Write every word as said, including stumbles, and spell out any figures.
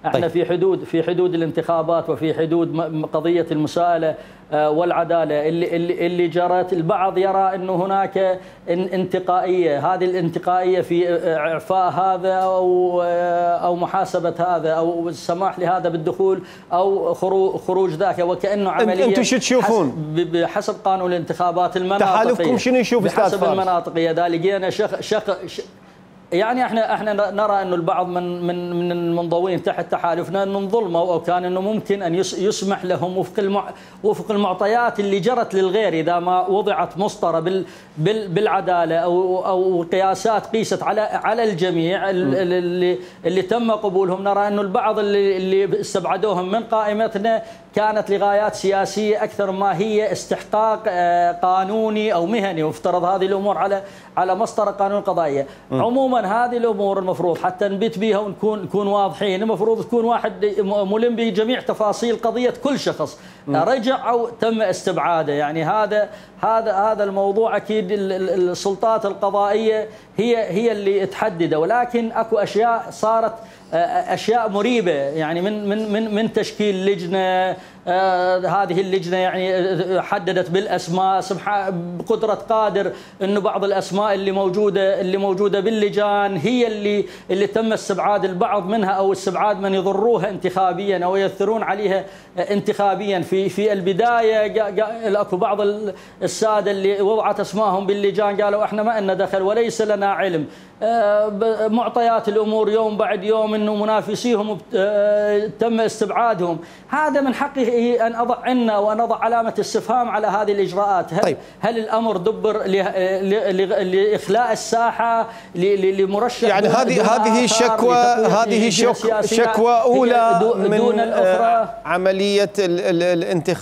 احنا طيب. في حدود في حدود الانتخابات وفي حدود قضيه المساءله والعداله اللي اللي اللي جرت. البعض يرى انه هناك انتقائيه، هذه الانتقائيه في اعفاء هذا او او محاسبه هذا او السماح لهذا بالدخول او خروج ذاك، وكانه عمليه. انتم شو تشوفون؟ بحسب قانون الانتخابات المناطقيه، تحالفكم شنو يشوف استاذ فارس؟ بحسب المناطقيه ذا لقينا شق شق يعني احنا احنا نرى انه البعض من من من المنضوين تحت تحالفنا انه ظلموا، او كان انه ممكن ان يسمح لهم وفق المع وفق المعطيات اللي جرت للغير اذا ما وضعت مسطره بال بال بالعداله او او قياسات قيست على على الجميع اللي اللي تم قبولهم. نرى انه البعض اللي اللي استبعدوهم من قائمتنا كانت لغايات سياسيه اكثر ما هي استحقاق قانوني او مهني، وافترض هذه الامور على على مسطره قانون القضائيه. عموما هذه الامور المفروض حتى نبت بها ونكون نكون واضحين، المفروض تكون واحد ملم بجميع تفاصيل قضيه كل شخص رجع او تم استبعاده. يعني هذا هذا هذا الموضوع اكيد السلطات القضائيه هي هي اللي تحدده، ولكن اكو اشياء صارت اشياء مريبه، يعني من من من من تشكيل لجنه. آه هذه اللجنه يعني حددت بالاسماء بقدره قادر انه بعض الاسماء اللي موجوده اللي موجوده باللجان هي اللي اللي تم استبعاد البعض منها او استبعاد من يضروها انتخابيا او يؤثرون عليها انتخابيا. في في البدايه اكو بعض الساده اللي وضعت اسمائهم باللجان قالوا احنا ما لنا دخل وليس لنا علم. آه معطيات الامور يوم بعد يوم انه منافسيهم آه تم استبعادهم. هذا من حقه ان اضع عنا وان اضع علامه استفهام على هذه الاجراءات. هل, طيب. هل الامر دبر لاخلاء الساحه لمرشح؟ يعني هذه هذه شكوى هذه شكوى اولى من دون الأخرى. عمليه الانتخاب.